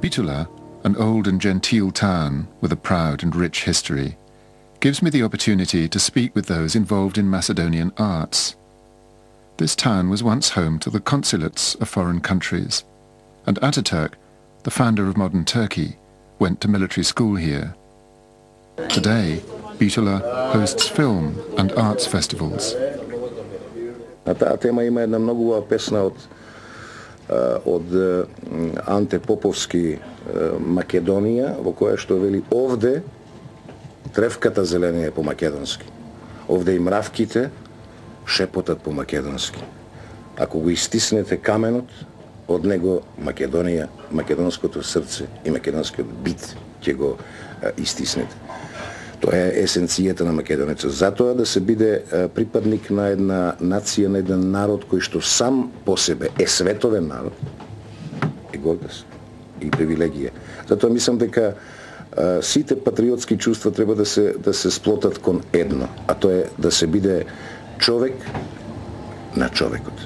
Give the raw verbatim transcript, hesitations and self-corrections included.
Bitola, an old and genteel town with a proud and rich history, gives me the opportunity to speak with those involved in Macedonian arts. This town was once home to the consulates of foreign countries, and Ataturk, the founder of modern Turkey, went to military school here. Today, Bitola hosts film and arts festivals. На таа тема има една многу убава песна од од Анте Поповски Македонија, во која што вели овде тревката зелена е по македонски. Овде и мравките шепотат по македонски. Ако го истиснете каменот, од него Македонија, македонското срце и македонскиот бит ќе го истиснете. Тоа е есенцијата на македонецот. Затоа да се биде припадник на една нација, на еден народ кој што сам по себе е световен народ, е гордост и привилегија. Затоа мислам дека сите патриотски чувства треба да се да се сплотат кон едно, а тоа е да се биде човек на човекот.